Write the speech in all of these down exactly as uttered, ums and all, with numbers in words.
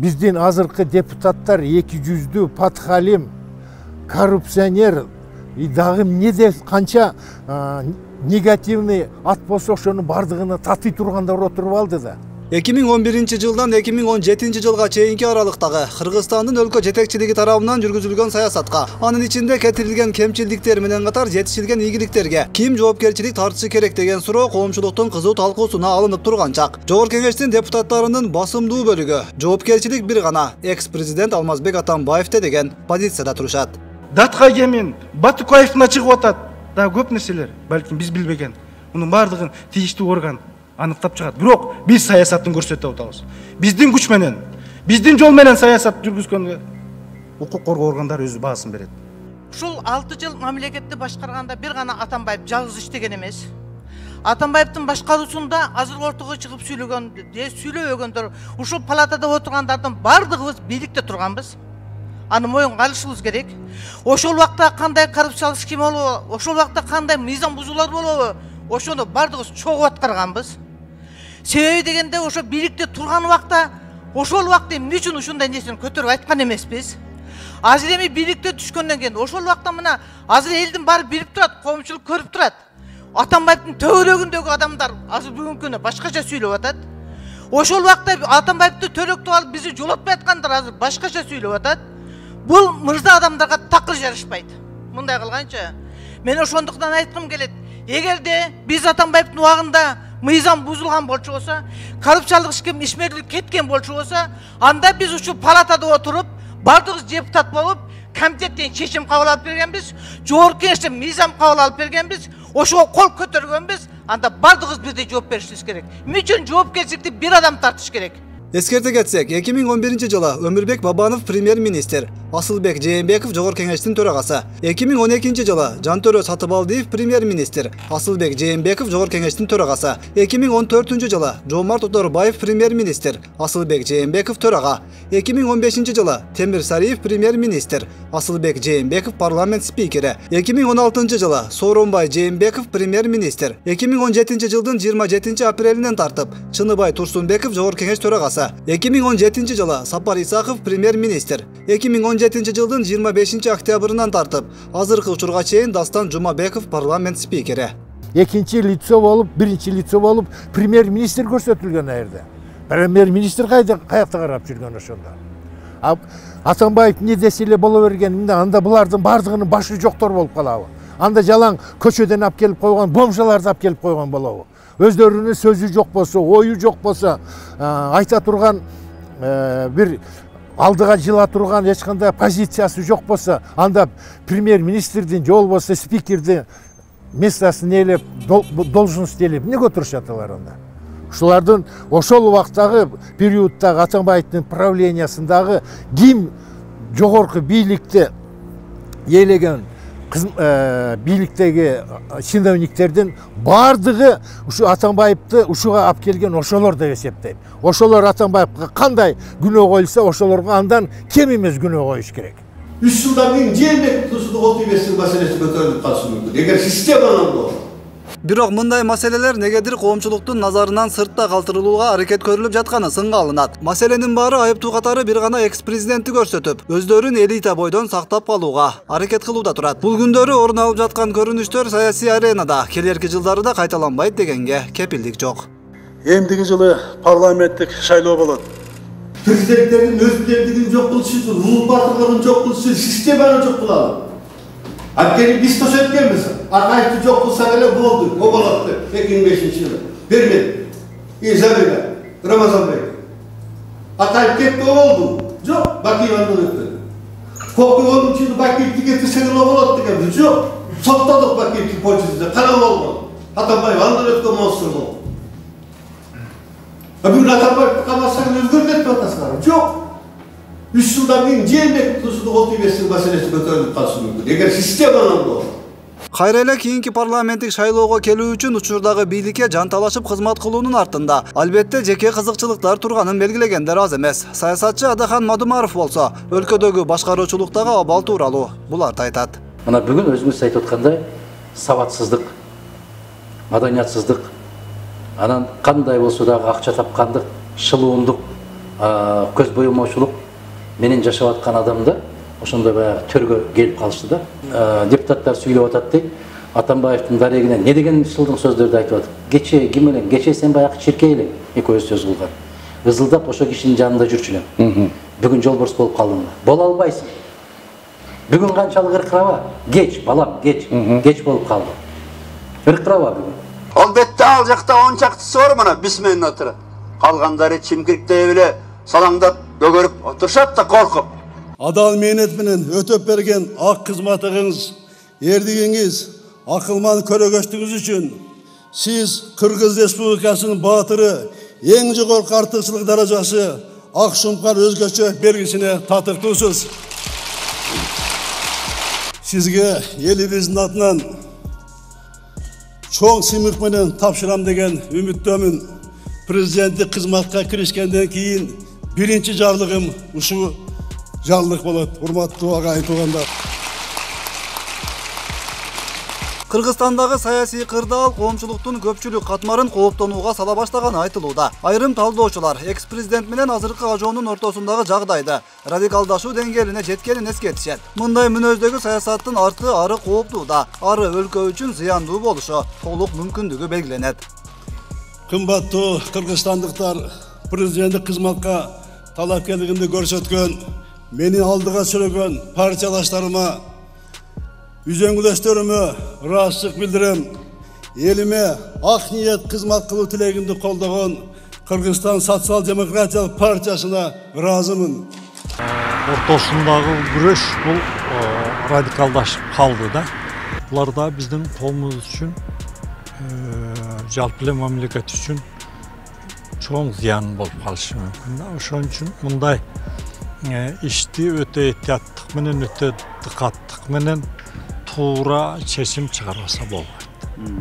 биздин азыркы депутаттар эки жүздүү патхалим, коррупционер, и дагы эмне деп канча негативный ат болсо ошонун бардыгына татый тургандар отуруп алды да. эки миң он биринчи жылдан эки миң он жетинчи жылга чейинки аралыктагы Кыргызстандын өлкө жетекчилиги тарабынан жүргүзүлгөн саясатка, анын ичинде кетирилген кемчилдиктер менен катар жетишилген ийгиликтерге ким жоопкерчилик тартышы керек деген суроо коомчулуктун кызуу талкуусуна алынып турган чак. Жогорку Кеңештин депутаттарынын басымдуу бөлүгү жоопкерчилик бир гана экс-президент Алмазбек Атамбаевде деген позицияда турушат. Датка кемин Батукаевдин чыгып атат. Да көп нерселер, балким биз билбеген. Мунун бардыгын тийиштүү орган аныктап чыгат. Бирок биз саясатын көрсөтүп атабыз. Биздин күч менен, биздин жол менен саясат жүргүзгөнгө укук коргоо органдары өзү баасын берет. Ушул алты жыл мамлекетти башкарганда бир гана Атамбаев жалгыз иштеген эмес. Атамбаевдин башкаруусунда азыр ортого чыгып сүйлөгөн, сүйлөбөгөндөр, ушул палатада отургандардын бардыгыбыз бийликте турганбыз. Аны моюнга алышыбыз керек. Ошол убакта кандай коррупциялык схема болобу, ошол убакта кандай мыйзам бузуулар болобу, ошону бардыгыбыз чогуу аткарганбыз. Себеби дегенде ошо бийликте турган убакта, ошол убакта эмне үчүн ушундай нерсени көтөрүп айткан эмеспиз? Азыр эми бийликте түшкөндөн кийин ошол убакта мына азыр элдин баары билип турат, коомчулук көрүп турат. Атамбаевдин төбөлөгүндөгү адамдар азыр бүгүнкү күнү башкача сүйлөп атат. Ошол убакта Атамбаевди төрөктөп алып бизди жолотпой аткандар азыр башкача сүйлөп атат. Бул мырза адамдарга такыр жарышпайт. Мындай кылганча, мен ошондуктан айткым келет. Эгерде биз Атамбаевдин убагында мыйзам бузулган болчу болсо, коррупциялык ишмерлик кеткен болчу болсо, анда биз ушул палатада отуруп, бардыгыбыз депутат болуп, комитеттен чечим кабыл алып бергенбиз, жогорку кеңештен мыйзам кабыл алып бергенбиз, ошого кол көтөргөнбүз, анда бардыгыбыз бирдей жооп беришибиз керек. Эмне үчүн жоопкерчиликти бир адам тартыш керек? Эскерте кетсек, эки миң он биринчи жылы Өмүрбек Бабанов премьер-министр, Асылбек Жээнбеков жогорку кеңештин төрагасы. эки миң он экинчи жылы Жантөрө Сатыбалдиев премьер-министр, Асылбек Жээнбеков жогорку кеңештин төрагасы. эки миң он төртүнчү жылы Жомарт Оторбаев премьер-министр, Асылбек Жээнбеков төрага. эки миң он бешинчи жылы Темир Сариев премьер-министр, Асылбек Жээнбеков парламент спикери. эки миң он алтынчы жылы Сооронбай Жээнбеков премьер-министр. эки миң он жетинчи жылдын жыйырма жетинчи апрелинен тартып Чыныбай Турсунбеков жогорку кеңеш төрагасы. эки миң он жетинчи жылы Сапар Исаков премьер-министр. эки миң он жетинчи жылдын жыйырма бешинчи октябрынан тартып азыркы учурга чейин Дастан Жумабеков парламент спикери. Экинчи лицо болуп, биринчи лицо болуп премьер-министр көрсөтүлгөн айырда. Премьер-министр кайда каякта карап жүргөн ошондо. Атамбаев эмне десе эле боло берген, анда булардын бардыгынын башы жоктор болуп калабы? Анда жалаң көчөдөн алып келип койгон бомжаларды алып келип койгон болобу? Өздөрүнүн сөзү жок болсо, ою жок болсо, айта турган бир алдыга жыла турган эч кандай позициясы жок болсо, анда премьер-министрдин же болбосо спикердин местосын ээлеп, должность ээлеп эмнеге отурушат алар анда? Ушулардын ошол убактагы периоддагы Атамбаевдин правлениясындагы ким жогорку бийликти ээлеген бийликтеги чиновниктердин бардыгы ушу Атамбаевди ушуга алып келген ошолор деп эсептейм. Ошолор Атамбаевга кандай күнөө коюлса, ошолорго андан кем эмес күнөө коюш керек. үч жылдан кийин Жээнбеков тушуну кол тийбестик маселеси көтөрүлүп калышы мүмкүн. Эгер системанын болсо. Бирок мындай маселелер негедир коомчулуктун назарынан сыртта калтырылууга аракет көрүлүп жатканы сынга алынат. Маселенин баары айыптуу катары бир гана экс-президентти көрсөтүп, өздөрүн элита бойдон сактап калууга аракет кылууда турат. Бул күндөрү орун алып жаткан көрүнүштөр саясий аренада келерки жылдары да кайталанбайт дегенге кепилдик жок. Эмдиги жылы парламенттик шайлоо болот. Президенттердин өз бийлигин жок кылышы үчүн, улуу батырлыгын жок кылышы үчүн системаны жок кылалы. Анткени биз төшөткөнбүз. Акаевди жок кылсак эле болду. О болот деп эки миң бешинчи жылы. Бермedi. Изабелла, Рамазанбек. Акаев кетти болду. Жок, Бакиевден өттү. Кокуйдун ичинде Бакиевди кетирсек эле болот дегенбиз. Жок. Соттодук Бакиевди почтасында кана болгон. Атамбаев андан өткөн монстр болду. А бүгүн Атамбаевди камасак өзгөрүп кетип атасыңар. Жок. үч жылдан кийин Жээнбеков тушуну кол тийбестик маселеси көтөрүлүп калышы мүмкүн. Эгер системанын болсо. Кайра эле кийинки парламенттик шайлоого келүү үчүн учурдагы бийликке жанталашып кызмат кылуунун артында албетте жеке кызыкчылыктар турганын белгилегендер аз эмес. Саясатчы Адахан Мадумаров болсо, өлкөдөгү башкаруучулуктагы абал тууралуу буларды айтат. Мына бүгүн өзүңүз айтып аткандай, сабатсыздык, маданиятсыздык, анан кандай болсо дагы акча тапкандык, шылуундук, көз боямаушылык менен жашап аткан адамды ошондой баягы төргө келип калышты да. Депутаттар сүйлөп атат дейт. Атамбаевдин дарегине не деген ысылдың сөздөрдү айтып атат. Кече ким элең? Кече сен баягы чиркей элең. Экөөбүз сөз кылган. Ызылдап ошо кишинин жанында жүрчү элем. Бүгүн жолборс болуп калдым. Боло албайсың. Бүгүн канчалык ыркыраба? Кеч, балам, кеч. Кеч болуп калды. Ыркыраба бүгүн. Албетте ал жакта он чактысы бар мына бисменин отура. Калгандары чимкириктей эле салаңдап бөгөрүп отурушат да коркуп. Адал мээнет менен өтөп берген ак кызматыңыз, эрдигиңиз, акылман көрөгөчтүгүңүз үчүн сиз Кыргыз Республикасынын баатыры, эң жогорку артыкчылык даражасы Ак Шумкар өзгөчө белгисине татыктуусуз. Сизге элибиздин атынан чоң сыймык менен тапшырам деген үмүттөмүн. Президенттик кызматка киришкенден кийин биринчи жарлыгым ушул жарлык болот. Урматтуу агайын туугандар. Кыргызстандагы саясий кырдаал коомчулуктун көпчүлүк катмарын кооптонууга сала баштаганы айтылууда. Айрым талдоочулар экс-президент менен азыркы ажоонун ортосундагы жагдайды радикалдашуу деңгээлине жеткенин эскертишет. Мындай мүнөздөгү саясаттын арты ары кооптуу да, ары өлкө үчүн зыяндуу болушу толук мүмкүндүгү белгиленет. Кымбаттуу кыргызстандыктар, президенттик кызматка талапкерлигимди көрсөткөн, мени алдыга сүрөгөн партиялаштарыма, үзөңгүлөштөрүмө ыраазычылык билдирем. Элиме ак ниет кызмат кылуу тилегимди колдогон Кыргызстан социал-демократиялык партиясына ыраазымын. Ортосундагы күрөш бул радикалдашып калды да. Булар да биздин коомубуз үчүн, жалпы эле мамлекет үчүн чоң зыян болуп калышы мүмкүн да. Ошон үчүн мындай ишти өтө этияттык менен, өтө дыкаттык менен туура чечим чыгарбаса болбойт.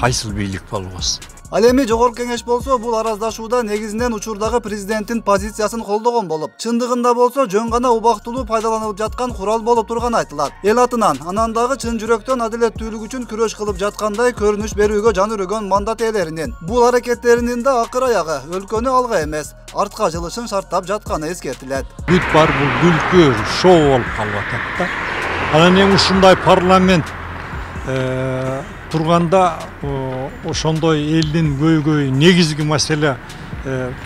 Кайсыл бийлик болбосун. Ал эми жогорку кеңеш болсо бул араздашууда негизинен учурдагы президенттин позициясын колдогон болуп, чындыгында болсо жөн гана убактылуу пайдаланылып жаткан курал болуп турганы айтылат. Эл атынан анан дагы чын жүрөктөн адилеттүүлүк үчүн күрөш кылып жаткандай көрүнүш берүүгө жан үрөгөн мандат ээлеринин бул аракеттеринин да акыр аягы өлкөнү алга эмес, артка жылышын шарттап жатканы эскертилет. Бүт бар бул күлкү, шоу болуп калып атат да. Анан эң ушундай парламент турганда ошондой элдин көйгөйү, негизги маселе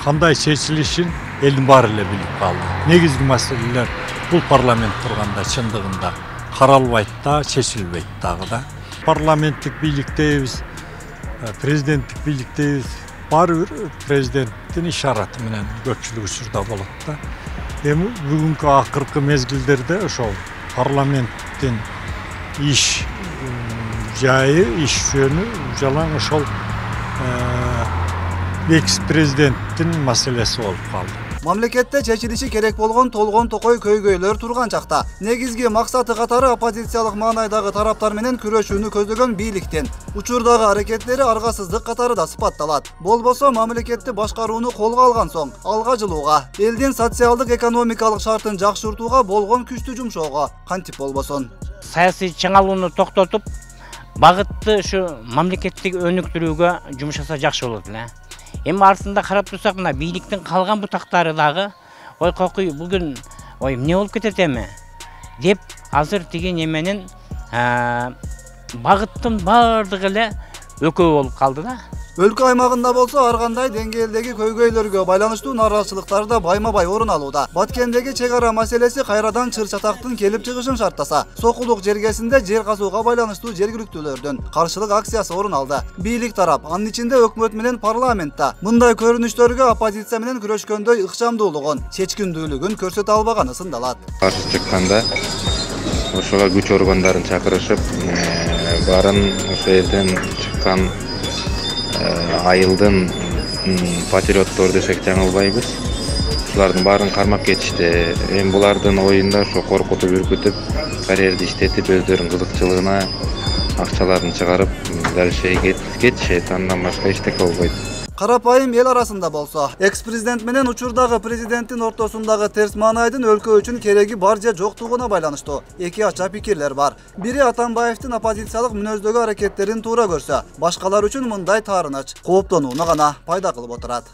кандай чечилишин элдин баары эле билип калды. Негизги маселелер бул парламент турганда чындыгында каралбайт да, чечилбейт дагы да. Парламенттик бийликтейбиз, президенттик бийликтейбиз. Баары бир президенттин ишараты менен көпчүлүк учурда болот да. Эми бүгүнкү акыркы мезгилдерде ошол парламенттин иш жайы, иш жөнү жалаң ошол экс-президенттин маселеси болуп калды. Мамлекетте чечилиши керек болгон толгон токой көйгөйлөр турган чакта негизги максаты катары оппозициялык маанайдагы тараптар менен күрөшүүнү көздөгөн бийликтин учурдагы аракеттери аргасыздык катары да сыпатталат. Болбосо мамлекетти башкарууну колго алган соң алга жылууга, элдин социалдык экономикалык шартын жакшыртууга болгон күчтү жумшоого кантип болбосун. Саясий чыңалууну токтотуп, багытты ушу мамлекеттик өнүктүрүүгө жумшаса жакшы болот эле. Эми артында карап турсак, мына бийликтин калган бутактары дагы ой кокуй бүгүн ой эмне болуп кетет эми деп азыр тиги неменин багыттын баардыгы эле өкөө болуп калды да. Өлкө аймагында болсо ар кандай деңгээлдеги көйгөйлөргө байланыштуу нааразычылыктар да байма-бай орун алууда. Баткендеги чек ара маселеси кайрадан чыр-чатактын келип чыгышын шарттаса, Сокулук жергесинде жер казууга байланыштуу жергиликтүүлөрдүн каршылык акциясы орун алды. Бийлик тарап, анын ичинде өкмөт менен парламентта мындай көрүнүштөргө оппозиция менен күрөшкөндөй ыкчамдуулугун, чечкиндүүлүгүн көрсөтө албаганы сындалат. Каршы чыкканда ошого күч органдарын чакырышып, барын ошо жерден чыккан айылдын патриоттор десек жаңылбайбыз. Ушулардын баарын кармап кетишти. Эми булардын оюнда ошо коркутуп, үркүтүп, карьерди иштетип, өздөрүнүн кызыкчылыгына акчаларын чыгарып, дальше кетишет. Андан башка эчтеке болбойт. Карапайым эл арасында болсо, экс-президент менен учурдагы президенттин ортосундагы терс маанайдын өлкө үчүн кереги бар же жоктугуна байланыштуу эки ача пикирлер бар. Бири Атамбаевдин оппозициялык мүнөздөгү аракеттерин туура көрсө, башкалар үчүн мындай таарыныч кооптонууну гана пайда кылып отурат.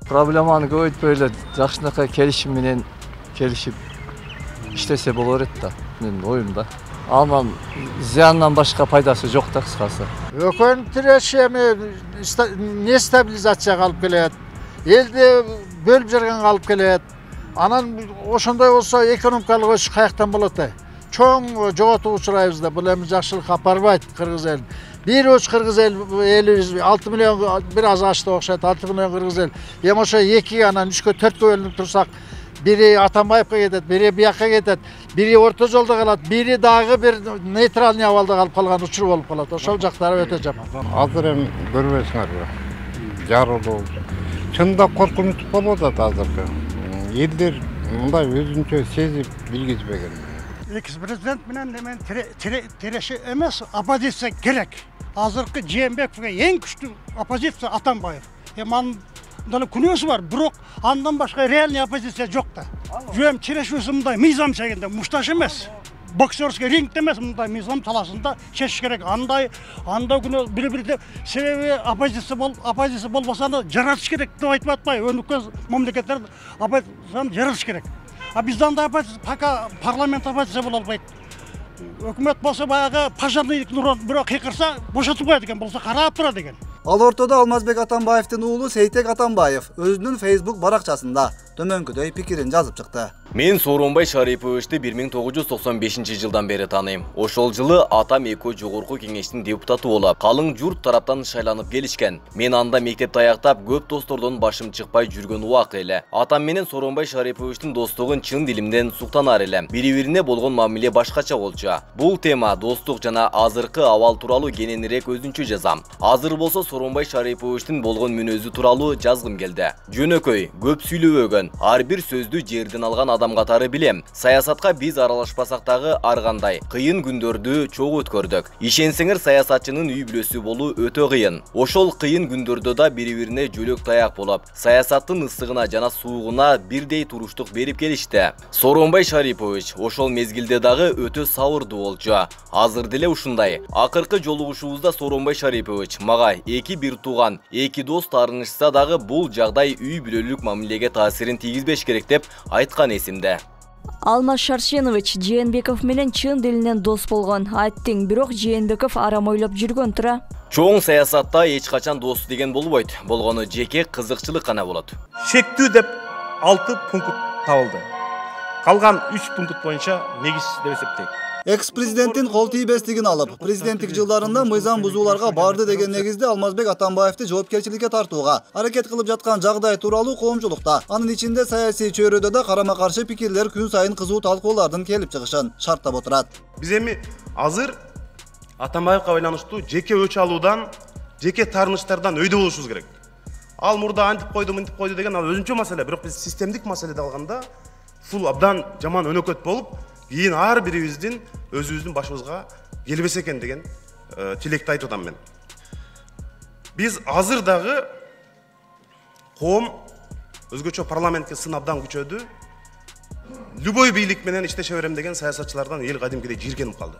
Проблеманы көбөйтпөй эле жакшынакай келишим менен келишип иштесе болор эт да, менин оюмда. Анан зыяндан башка пайдасы жок да кыскасы. Өкөнүн тиреши эми не стабилизацияга алып келет, элди бөлүп жарганга алып келет. Анан ошондой болсо экономикалык өсүш каяктан болот э? Чоң жоготууга учурайбыз да, бул эми жакшылыкка апарбайт кыргыз элин. Бир уч кыргыз элибиз алты миллион бир аз ашты окшойт, алты миллион кыргыз эл. Эми ошо эки анан үчкө төрткө бөлүнүп турсак, бири Атамбаевка кетет, бири бияка кетет, бири орто жолдо калат, бири дагы бир нейтральный абалда калып калган учур болуп калат. Ошол жактары өтө жаман. Азыр эми көрбөйсүңөрбү? Жарылуу. Чында коркунуч болуп атат азыркы. Элдер мындай өзүнчө сезип билгизбеген. Экс-президент менен эмен тиреши эмес, оппозиция керек. Азыркы Жээнбековго эң күчтүү оппозиция Атамбаев. Эми анын дагы күнөөсү бар, бирок андан башка реальный оппозиция жок да. Жөн тирешүүсү мындай мыйзам чегинде, мушташ эмес. Боксерский рингде эмес, мындай мыйзам талашында чечиш керек. Андай анда күнөө бири-бири деп себеби оппозиция бол, оппозиция болбосо аны жаратыш керек деп айтып атпай, өнүккөн мамлекеттер оппозицияны жаратыш керек. А бизде андай оппозиция, пока парламент оппозиция боло албайт. Өкмөт болсо баягы пожарный бирок кыйкырса бошотуп коет экен, болсо карап турат экен. Ал ортодо Алмазбек Атамбаевдин уулу Сейтек Атамбаев өзүнүн Facebook баракчасында төмөнкүдөй пикирин жазып чыкты. Мен Сооронбай Шариповичти бир миң тогуз жүз токсон бешинчи жылдан бери тааныйм. Ошол жылы атам Эко жогорку кеңештин депутаты болуп, калың журт тараптан шайланып келишкен. Мен анда мектепти аяктап, көп достордон башым чыкпай жүргөн убак эле. Атам менен Сооронбай Шариповичтин достугун чын дилимден суктанар элем. Бири-бирине болгон мамиле башкача болчу. Бул тема достук жана азыркы абал тууралуу кененирээк өзүнчө жазам. Азыр болсо Сооронбай Шариповичтин болгон мүнөзү тууралуу жазгым келди. Жөнөкөй, көп сүйлөбөгөн, ар бир сөздү жерден алган адам катары билем. Саясатка биз аралашпасак дагы ар кандай кыйын күндөрдү чогуу өткөрдүк. Ишенсеңер, саясатчынын үй бүлөсү болуу өтө кыйын. Ошол кыйын күндөрдө да бири-бирине жөлөк таяк болуп, саясаттын ысыгына жана суугуна бирдей туруштук берип келишти. Сооронбай Шарипович ошол мезгилде дагы өтө сабырдуу болчу. Азыр деле ушундай. Акыркы жолугушуубузда Сооронбай Шарипович мага эки бир тууган, эки дос таарынышса дагы бул жагдай үй бүлөлүк мамилеге таасирин тийгизбеш керек деп айткан эсимде. Алмаз Шаршенович Жээнбеков менен чын дилинен дос болгон. Айттың, бирок Жээнбеков арам ойлоп жүргөн тура. Чоң саясатта эч качан дос деген болбойт. Болгону жеке кызыкчылык гана болот. Шектүү деп алты пункт табылды. Калган үч пункт боюнча негиз деп эсептейт. Экс-президенттин кол тийбестигин алып, президенттик жылдарында мыйзам бузууларга барды деген негизде Алмазбек Атамбаевди жоопкерчиликке тартууга аракет кылып жаткан жагдай тууралуу коомчулукта, анын ичинде саясий чөйрөдө да карама-каршы пикирлер күн сайын кызуу талкуулардын келип чыгышын шарттап отурат. Биз эми азыр Атамбаевга байланыштуу жеке өч алуудан, жеке таарынычтардан өйдө болушубуз керек. Ал мурда антип койду, мынтип койду деген ал өзүнчө маселе, бирок биз системдик маселеде алганда фул абдан жаман өнөкөт болуп, кийин ар бирибиздин өзүбүздүн башыбызга келбесе экен деген тилекти айтып атам мен. Биз азыр дагы коом өзгөчө парламентке сын абдан күчөдү. Любой бийлик менен иштеше берем деген саясатчылардан эл кадимкидей жийиркенип калды.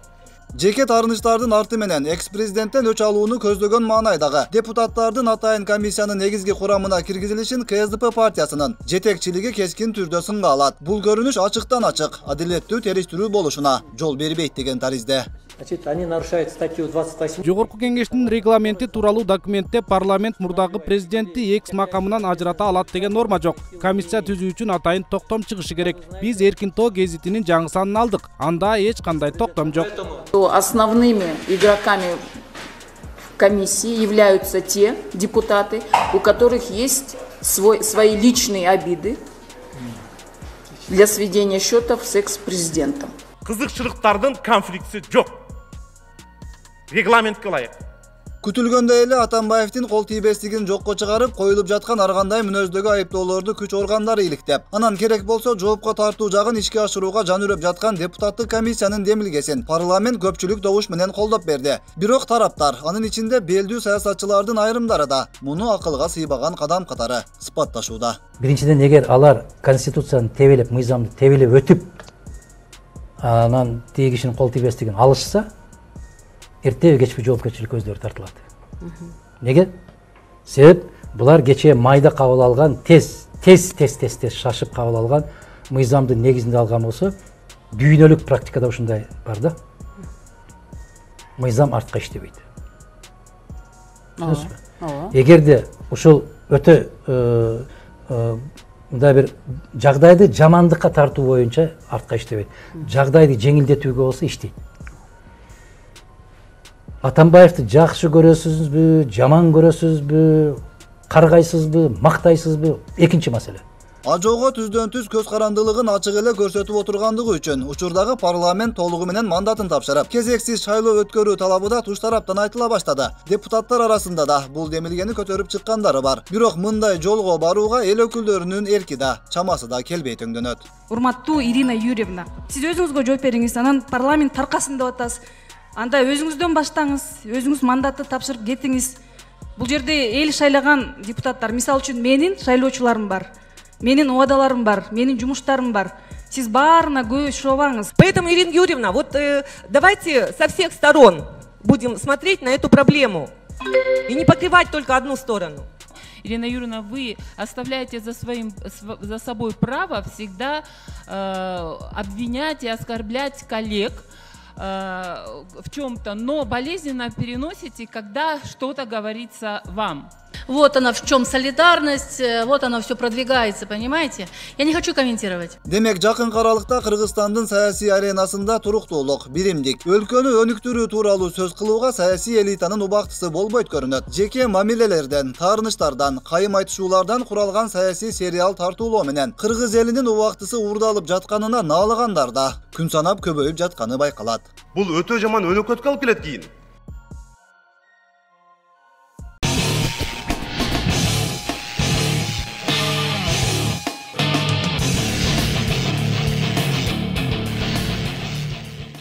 Жеке таарынычтардын арты менен экс-президенттен өч алууну көздөгөн маанайдагы депутаттардын атайын комиссиянын негизги курамына киргизилишин ка эс дэ пэ партиясынын жетекчилиги кескин түрдө сынга алат. Бул көрүнүш ачыктан ачык адилеттүү териштирүү болушуна жол бербейт деген таризде. Значит, они нарушают статью двадцать восемь. Жогорку кеңештин регламенти тууралуу документте парламент мурдагы президентти экс макамынан ажырата алат деген норма жок. Комиссия түзүү үчүн атайын токтом чыгышы керек. Биз Эркин Тоо гезитинин жаңы санын алдык. Анда эч кандай токтом жок. Основными игроками в комиссии являются те депутаты, у которых есть свой, свои личные обиды для сведения счетов с экс-президентом. Кызыкчылыктардын конфликти жок. Регламентке ылайык. Күтүлгөндөй эле Атамбаевдин кол тийбестигин жокко чыгарып, коюлуп жаткан ар кандай мүнөздөгү айыптоолорду күч органдары иликтеп, анан керек болсо жоопко тартуу жагын ишке ашырууга жан үрөп жаткан депутаттык комиссиянын демилгесин парламент көпчүлүк добуш менен колдоп берди. Бирок тараптар, анын ичинде белдүү саясатчылардын айрымдары да муну акылга сыйбаган кадам катары сыпатташууда. Биринчиден, эгер алар конституцияны тебелеп, мыйзамды тебелеп өтүп, анан тиги кишинин кол тийбестигин алышса, эртеби кечпи жоопкерчиликке өздөрү тартылат. Неге? Себеп Булар кечээ майда кабыл алган, тез тез тез тез тез шашып кабыл алган мыйзамдын негизинде алган болсо, дүйнөлүк практикада ушундай бар да. Мыйзам артка иштебейт. Эгерде ушул өтө мындай бир жагдайды жамандыкка тартуу боюнча артка иштебейт. Жагдайды жеңилдетүүгө болсо иштейт. Атамбаевди жакшы көрөсүзбү, жаман көрөсүзбү, каргайсызбы, мактайсызбы? Экинчи маселе. Ажоого түздөн түз көз карандылыгын ачык эле көрсөтүп отургандыгы үчүн учурдагы парламент толугу менен мандатын тапшырып, кезексиз шайлоо өткөрүү талабы да туш тараптан айтыла баштады. Депутаттар арасында да бул демилгени көтөрүп чыккандары бар. Бирок мындай жолго барууга эл өкүлдөрүнүн эрки да, чамасы да келбей төңдөнөт. Урматтуу Ирина Юрьевна, сиз өзүңүзгө жооп бериңиз, анан парламент таркасын деп атасыз. Анда өзүңүздөн баштаңыз, өзүңүз мандатты тапшырып кетиңиз. Бул жерде эл шайлаган депутаттар, мисалы үчүн менин шайлоочуларым бар. Менин убадаларым бар, менин жумуштарым бар. Сиз баарына көз шобаңыз. Поэтому, Ирина Юрьевна, вот э, давайте со всех сторон будем смотреть на эту проблему и не покрывать только одну сторону. Ирина Юрьевна, вы оставляете за, своим, за собой право всегда э, обвинять и оскорблять коллег э, в чем-то, но болезненно переносите, когда что-то говорится вам. Вот она в чем солидарность, вот она все продвигается, понимаете? Я не хочу комментировать. Демек, жакын каралыкта Кыргызстандын саясий аренасында туруктуулук, биримдик, өлкөнү өнүктүрүү тууралуу сөз кылууга саясий элитанын убактысы болбойт көрүнөт. Жеке мамилелерден, таарынычтардан, кайым айтышуулардан куралган саясий сериал тартуулоо менен кыргыз элинин убактысы уурдалып жатканына наалыгандар да күн санап көбөйүп жатканы байкалат. Бул өтө жаман өнөкөткө алып келет кийин.